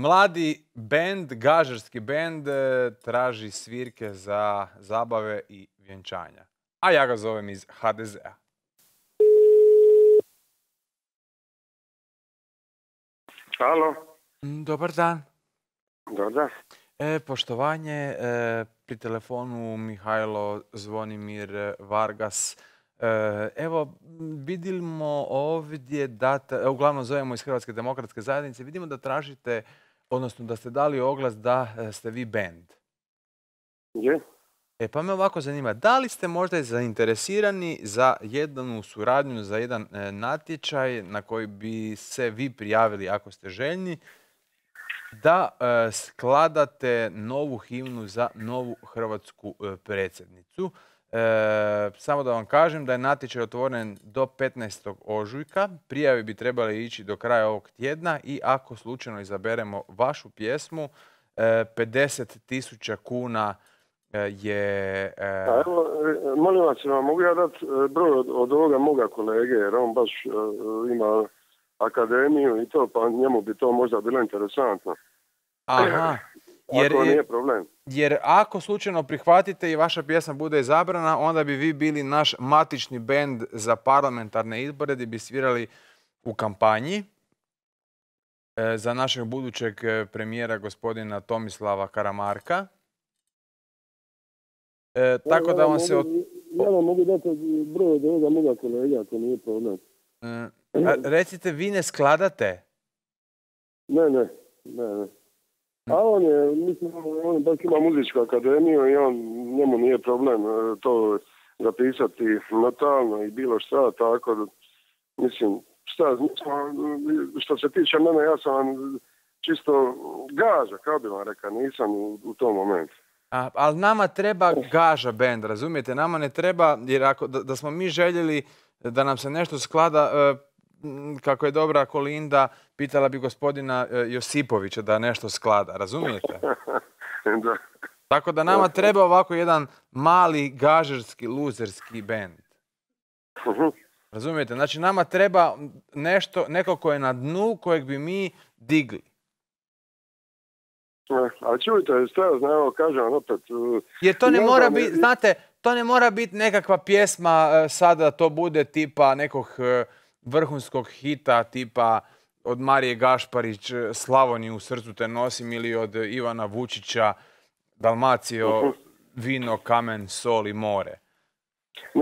Mladi bend, gažarski bend, traži svirke za zabave i vjenčanja. A ja ga zovem iz HDZ-a. Alo. Dobar dan. Dobar dan. Poštovanje, pri telefonu Mihajlo Zvonimir Vargas. Evo, vidimo ovdje da, uglavnom zovemo iz Hrvatske demokratske zajednice, vidimo da tražite, odnosno da ste dali oglas da ste vi bend. Je? Pa me ovako zanima, da li ste možda zainteresirani za jednu suradnju, za jedan natječaj na koji bi se vi prijavili ako ste željni, da skladate novu himnu za novu hrvatsku predsjednicu. Samo da vam kažem da je natječaj otvoren do 15. ožujka. Prijave bi trebali ići do kraja ovog tjedna i ako slučajno izaberemo vašu pjesmu, 50.000 kuna je... Evo, molim vas, mogu ja dati broj od ovoga moga kolege, jer on baš ima akademiju i to, pa njemu bi to možda bilo interesantno. Aha. Ako nije problem. Jer ako slučajno prihvatite i vaša pjesma bude izabrana, onda bi vi bili naš matični bend za parlamentarne izbore gdje bi svirali u kampanji za našeg budućeg premijera gospodina Tomislava Karamarka. Tako da vam se... Ja vam mogu dati broj od ovoga moga kolega, ako nije problem. Recite, vi ne skladate? Ne. A on je, mislim, on baš ima muzičku akademiju i njemu nije problem to zapisati notalno i bilo šta, tako da, mislim, što se tiče mene, ja sam vam čisto gaža, kao bi vam rekao, nisam u tom momentu. Ali nama treba gaža bend, razumijete? Nama ne treba, jer ako da smo mi željeli da nam se nešto sklada, kako je dobra Kolinda, pitala bi gospodina Josipovića da nešto sklada, razumijete? Da. Tako da nama treba ovako jedan mali gažarski, luzerski bend. Razumijete? Znači nama treba neko ko je na dnu, kojeg bi mi digli. A čujte, evo kažem opet... Jer to ne mora biti, znate, to ne mora biti nekakva pjesma sada to bude tipa nekog vrhunskog hita, tipa od Marije Gašparić Slavoniju u srcu te nosim ili od Ivana Vučića Dalmacijo, vino, kamen, sol i more.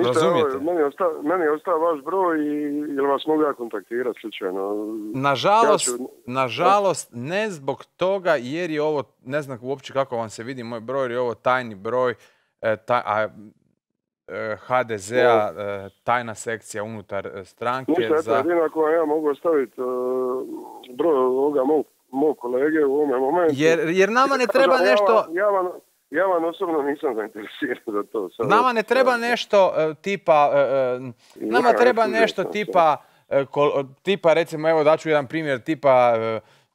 Razumijete? Meni je ostao vaš broj i jel vas mogu ja kontaktirati slučajno? Nažalost, ne zbog toga jer je ovo, ne znam uopće kako vam se vidi moj broj, jer je ovo tajni broj HDZ-a, tajna sekcija unutar stranke. Ništa, jedino ako vam ja mogu ostaviti broj ovoga mog kolege u ovome momentu. Jer nama ne treba nešto... Ja vam osobno nisam zainteresiran za to. Nama ne treba nešto tipa... Nama treba nešto tipa, recimo, evo daću jedan primjer, tipa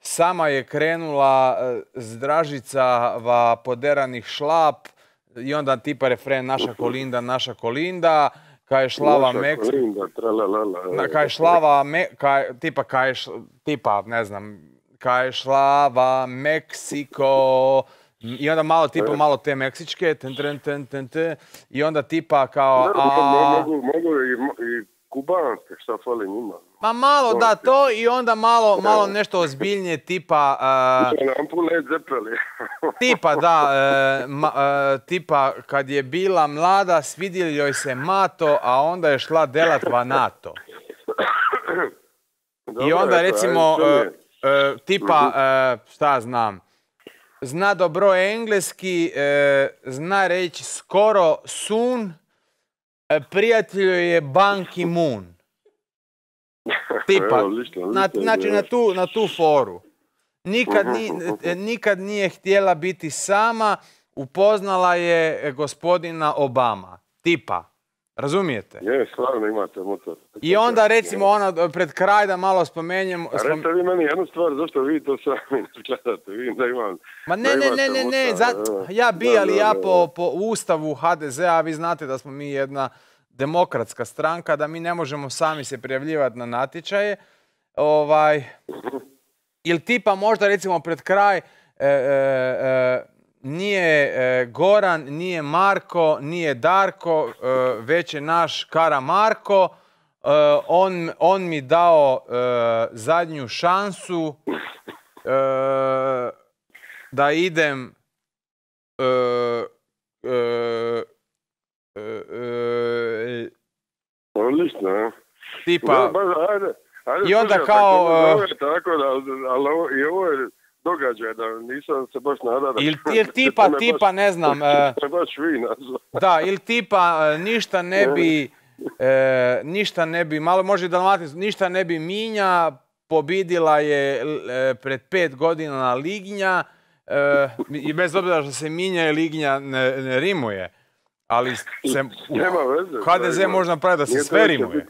sama je krenula s Dražicava poderanih šlap i onda tipa refren naša Kolinda, kaj je šlava kaj je šlava Meksiko, i onda malo tipa malo te meksičke, i onda tipa kao... Mogu i kubanske, šta fali njima. Ma malo da to i onda malo nešto ozbiljnije tipa... Tipa da, tipa kad je bila mlada svidio joj se mato, a onda je šla delatva NATO. I onda recimo tipa, šta znam, zna dobro engleski, zna reći skoro soon, prijatelju je Ban Ki-moon. Tipa, znači na tu foru. Nikad nije htjela biti sama, upoznala je gospodina Obama. Tipa, razumijete? Je, stvarno imate motor. I onda recimo ona pred kraj da malo spomenjem... Recite vi meni jednu stvar, zašto vi to sami ne gledate? Vidim da imam... Ma ne, ja bi, ali ja po ustavu HDZ-a, vi znate da smo mi jedna demokratska stranka, da mi ne možemo sami se prijavljivati na natječaje. ili tipa možda recimo pred kraj nije Goran, nije Marko, nije Darko, već je naš Karamarko. On mi dao zadnju šansu da idem Odlično, tipa ajde, i onda slušaj, kao tako da, ali i ovo je događaj da nisam se baš nadao da... ili tipa ne znam baš vi nazva. da, ili tipa ništa ne bi, malo može Dalmatinsko, ništa ne bi Minja, pobidila je pred 5 godina Lignja, i bez obzira što se Minja i Lignja ne rimuje, ali se Nema veze, HDZ može napraviti da se sve rimuje.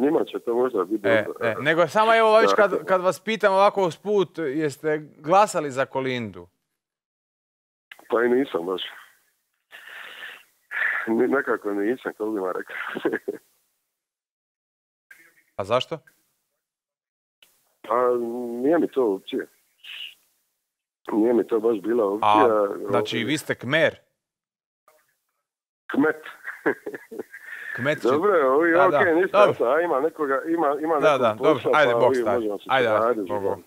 Njima će to možda biti. Nego samo evo već kad vas pitam ovako usput, jeste glasali za Kolindu? Pa i nisam baš. Nekako nisam, kako bi vam rekao. A zašto? Pa nije mi to opcija. Nije mi to baš bila opcija. Znači vi ste Kmer? Kmet. Kmet Dobro, okej, ništa, ima nekoga, ima nekog posla, dobro, ajde, Bog stavi. Ajde, ajde, Bog.